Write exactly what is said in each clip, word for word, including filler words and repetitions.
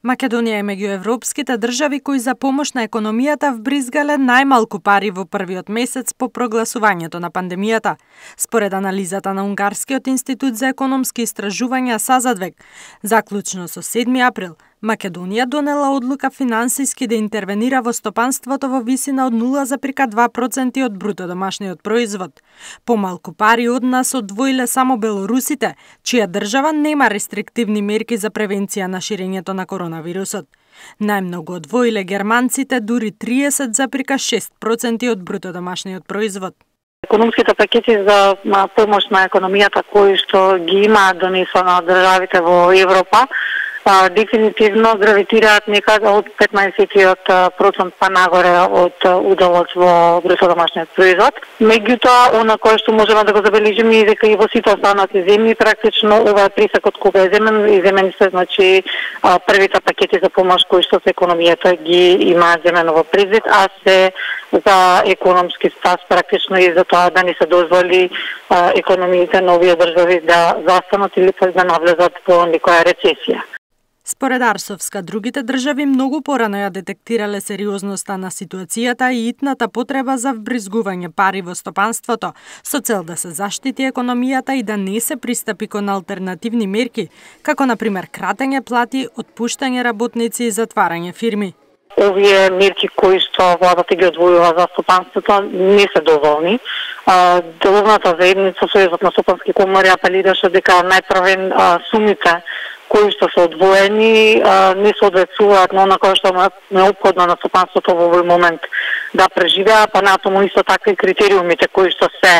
Македонија е меѓу европските држави кои за помош на економијата вбризгале најмалку пари во првиот месец по прогласувањето на пандемијата. Според анализата на Унгарскиот институт за економски истражувања Сазадвек, заклучно со седми април, Македонија донела одлука финансиски да интервенира во стопанството во висина од нула зарез два проценти од бруто домашниот производ. Помалку пари од нас одвоиле само белорусите, чија држава нема рестриктивни мерки за превенција на ширењето на коронавирусот. Најмногу одвоиле германците, дури триесет зарез шест проценти од бруто домашниот производ. Економските пакети за помош на економијата кои што ги имаат донесено од државите во Европа, А, дефинитивно гравитираат некаде од петнаесет проценти па нагоре од уделот во бруто домашниот производ. Меѓутоа, она кое што можеме да го забележиме е дека и во сите останати земји практично ова присакот кога е земен и земени се, значи а, првите пакети за помош кои што се економијата ги имаат земено во предвид, а се за економски спас практично и за тоа да не се дозволи а, економиите на овие држави да застанат или да навлезат во некоја рецесија. Според Арсовска, другите држави многу порано ја детектирале сериозноста на ситуацијата и итната потреба за вбризгување пари во стопанството, со цел да се заштити економијата и да не се пристапи кон алтернативни мерки, како например кратење плати, отпуштање работници и затварање фирми. Овие мерки кои што владата ги одвојува за стопанството не се доволни. Деловната заедница, Сојузот на стопански комори апелираше дека најпрвен сумите кои што се одвоени не соодветствуваат на она кое што е неопходно на стопанството во овој момент да преживеа, па натаму исто така и критериумите кои што се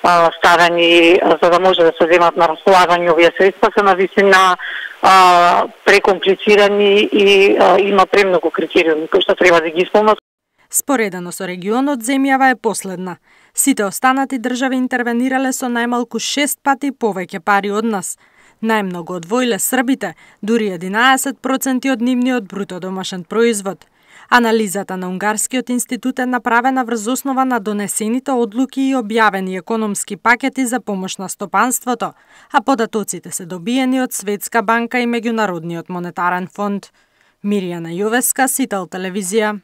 а, ставени за да може да се земат на располагање овие средства се на висина а, прекомплицирани и а, има премногу критериуми кои што треба да ги исполнат. Споредено со регионот, земјава е последна. Сите останати држави интервенирале со најмалку шест пати повеќе пари од нас. Најмногу одвоиле србите, дури единаесет проценти од нивниот бруто домашен производ. Анализата на Унгарскиот институт е направена врз основа на донесените одлуки и објавени економски пакети за помош на стопанството, а податоците се добиени од Светска банка и Меѓународниот монетарен фонд. Мирјана Јовеска, Сител телевизија.